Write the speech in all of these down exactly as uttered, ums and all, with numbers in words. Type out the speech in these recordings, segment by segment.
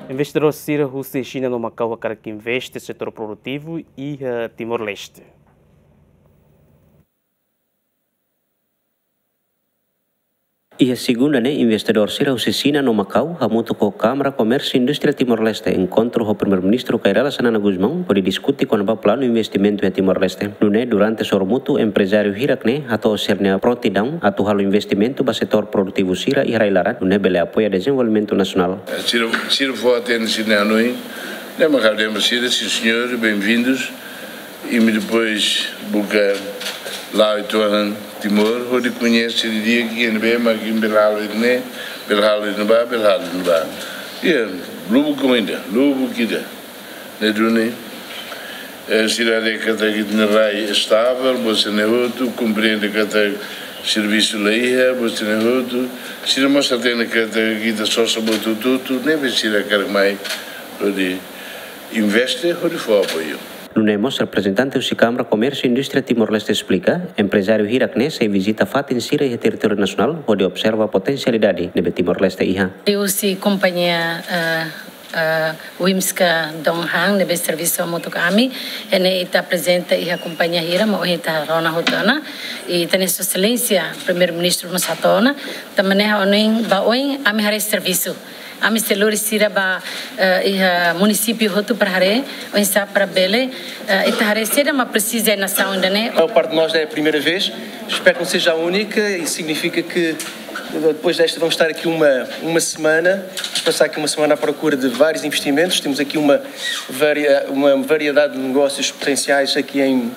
Investidór sira husi Xina no Makau hakarak investe setór produtivu iha Timor-Leste. Iha segunda ne'e, investidór sira husi Xina no Makau hamutuk ho Kámara Komérsiu Indústria Timor-Leste enkontru ho Primeiru-Ministru Kay Rala Xanana Gusmão hodi diskute kona-ba planu investimentu iha Timor-Leste. Nune'e durante sorumutu, emprezáriu hirak ne'e hato'o sira-nia prontidaun atu halo investimentu ba setór produtivu sira iha rai-laran, nune'e bele apoia dezenvolvimentu nasionál. Sira, sira fó atensaun sira-nia hanoin, ne'e mak ha'u dehan ba sira, sim senhor, bem-vindos. Imi depois buka la'o uitoan Timor, hodi koñese didi'ak iha ne'ebé mak imi bele halo ida-ne'e, bele halo ida-ne'ebá, bele halo ida-ne'ebá. Iha lubuk ida, lubuk ida. Ne'e duni, eh, sira haree katak ita-nia rai estável, buat sira-ne'e hotu, komprende katak servisu la iha, buat sira-ne'e hotu, sira mós hatene katak ita sosa buat hotu-hotu, ne'ebé sira hakarak mai hodi investe, hodi fó apoiu. Nune'e mós reprezentante husi Kámara Komérsiu Indústria Timor-Leste esplika, emprezáriu hirak ne'e sei vizita fatin sira iha territóriu nasionál hodi observa potensialidade ne'ebé Timor-Leste iha. Husi kompañia, eh, eh, Wimska Donghang ne'ebé servisu hamutuk ho ami, ne'e ita aprezenta iha kompañia hira, maibé ohin ita rona hotu ona, i ita-nia Sua Exelénsia Primeiru-Ministru mós hato'o ona, tanba ne'e ha'u hanoin ba oin ami haree servisu. Ami sei lori sira ba, eh, iha munisípiu hotu para haree, oinsá para bele, eh, ita haree saida mak presiza iha nasaun ida-ne'e. A maior parte de nós é a primeira vez, espero que não seja a única e significa que, eh, depois desta vamos estar aqui uma, uma semana, vamos passar aqui uma semana à procura de vários investimentos, temos aqui uma varia-, uma variedade de negócios potenciais aqui em,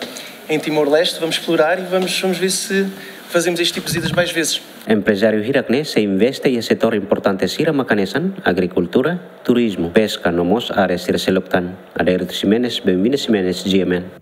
em Timor-Leste, vamos explorar e vamos, vamos ver se fazemos este tipo de idas mais vezes. Emprezáriu hirak ne'e sei investe iha setór importante sira mak hanesan agrikultura, turizmu, peska no mós área sira seluk tan. Adairto Ximenes, Benvinda Ximenes, G M N.